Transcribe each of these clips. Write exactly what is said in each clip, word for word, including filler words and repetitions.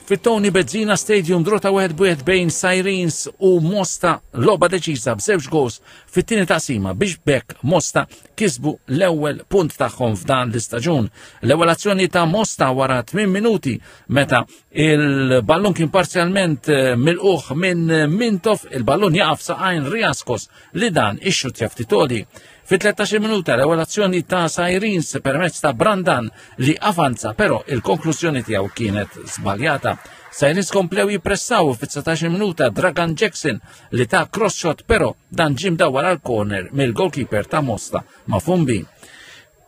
Fit-Tony Bezzina Stadium, draw ta' wieħed b'wieħed bejn Sirens u Mosta, logħba deċiża b'żewġ goals fit-tieni taqsima biex b'hekk Mosta kisbu l-ewwel punt tagħhom f'dan l-istaġun. L-ewwel azzjoni ta' Mosta wara tmien minuti, meta il-ballun kien parzjalment eh, milqugħ minn Mintoff, il-ballun jaqaf saqajn Riaskos li dan ixxuttja ftit għoli. Fit-tlettax-il minuta, l-ewwel azzjoni ta' Sirens permezz ta' Brandan li avanza, però il-konklużjoni tiegħu kienet żbaljata. Sirens komplew jippressaw fit-dsatax-il minuta, Dragan Jackson li ta cross shot, però dan ġie mdawwar għal corner mill-goalkeeper ta' Mosta, Mafumbi.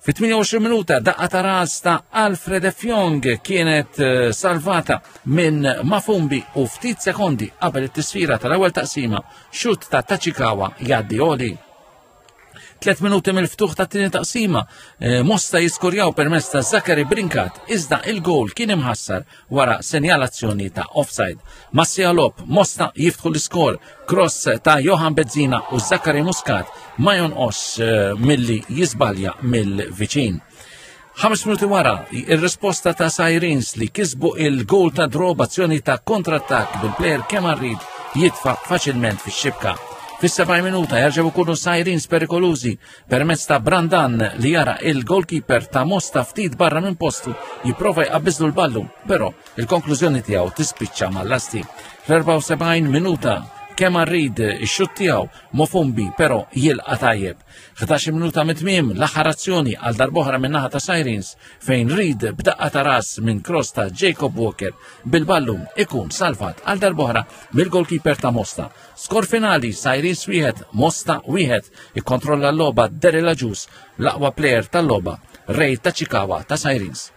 Fit-tmienja u għoxrin minuta, daqqa ta' ras ta' Alfred Fjong kienet eh, salvata minn Mafumbi u ftit sekondi qabel it-tisfira tal-ewwel taqsima, xut ta' Tachikawa jgħaddi għoli. Tlet minuti mill-ftuħ ta' tieni taqsima, eh, Mosta jiskorjaw permezz ta' Zachary Brinkat, iżda il-gol kien imħassar wara senjalazzjoni ta' offside. Mas-siegħa logħob, Mosta jiftħu l-iskor, cross ta' Johan Bezzina u Zachary Muscat ma jonqos eh, milli jisbalja mill-viċin. Ħames minuti wara, il-risposta ta' Sirens li kisbu il-gol ta' draw b'azzjoni ta' kontrattak bil-player Kemal Reid jitfa faċilment fix-xibka. Fis-sebgħin minuta jerġgħu jkunu Sirens perikolużi permezz ta' Brandan li jara il-goalkeeper ta' Mosta ftit barra minn postu jipprova jqabbiżlu l-ballun, però il-konklużjoni tiegħu tispiċċa mal-lasti. Fl-erbgħa u sebgħin minuta, Kemal Reid ix-xut tiegħu, Mofumbi però jilqa' tajjeb. ħdax-il minuta mit-tmiem, l-aħħar azzjoni għal darb'oħra minn naħa ta' Sirens fejn Reid b'daqqa ta' ras minn cross ta' Jacob Walker bil-ballun ikun salvat għal darb'oħra mill-goalkeeper ta' Mosta. Skor finali, Sirens wieħed, Mosta wieħed. Ikkontrolla l-logħba Derela Ġus, l-aqwa player tal-logħba Ray Tachikawa ta' Sirens.